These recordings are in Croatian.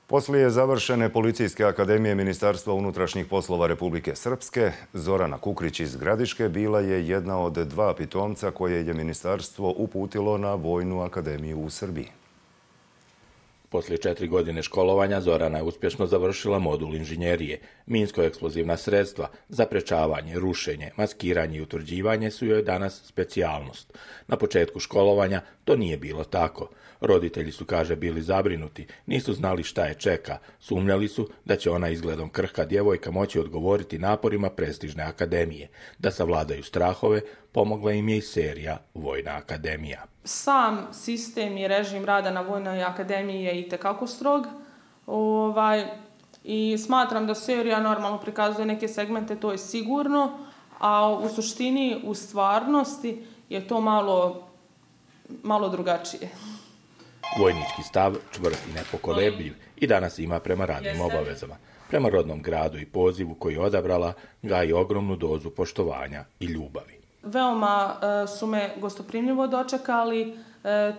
Poslije završene Policijske akademije Ministarstva unutrašnjih poslova Republike Srpske, Zorana Kukrić iz Gradiške bila je jedna od 2 pitomca koje je ministarstvo uputilo na Vojnu akademiju u Srbiji. Poslije 4 godine školovanja Zorana je uspješno završila modul inženjerije. Minsko-eksplozivna sredstva, zaprečavanje, rušenje, maskiranje i utvrđivanje su joj danas specijalnost. Na početku školovanja to nije bilo tako. Roditelji su, kaže, bili zabrinuti, nisu znali šta je čeka. Sumnjali su da će ona izgledom krhka djevojka moći odgovoriti naporima prestižne akademije. Da savladaju strahove, pomogla im je i serija Vojna akademija. Sam sistem i režim rada na Vojnoj akademiji je itekako strog i smatram da serija normalno prikazuje neke segmente, to je sigurno, a u suštini, u stvarnosti je to malo drugačije. Vojnički stav, čvrst i nepokolebljiv, i danas ima prema radnim obavezama. Prema rodnom gradu i pozivu koji je odabrala, gaji ogromnu dozu poštovanja i ljubavi. Veoma su me gostoprimljivo dočekali,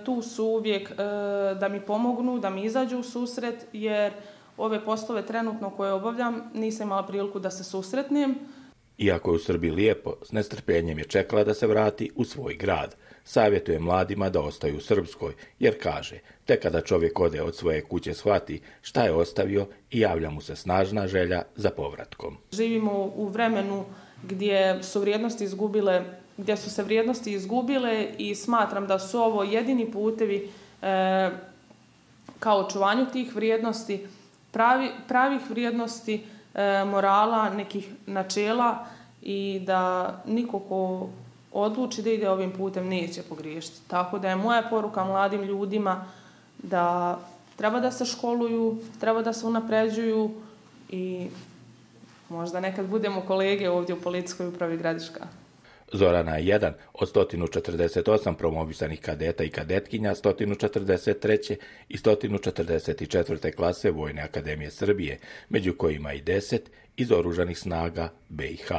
tu su uvijek da mi pomognu, da mi izađu u susret, jer ove poslove trenutno koje obavljam nisam imala priliku da se susretnem. Iako je u Srbiji lijepo, s nestrpljenjem je čekala da se vrati u svoj grad. Savjetuje mladima da ostaju u Srpskoj, jer kaže, tek kada čovjek ode od svoje kuće shvati šta je ostavio i javlja mu se snažna želja za povratkom. Živimo u vremenu gdje su se vrijednosti izgubile i smatram da su ovo jedini putevi kao očuvanju tih vrijednosti, pravih vrijednosti, morala, nekih načela i da niko ko odluči da ide ovim putem neće pogriješiti. Tako da je moja poruka mladim ljudima da treba da se školuju, treba da se unapređuju i možda nekad budemo kolege ovdje u Policijskoj upravi Gradiška. Zorana je jedan od 148 promovisanih kadeta i kadetkinja 143. i 144. klase Vojne akademije Srbije, među kojima i 10 iz Oružanih snaga BiH.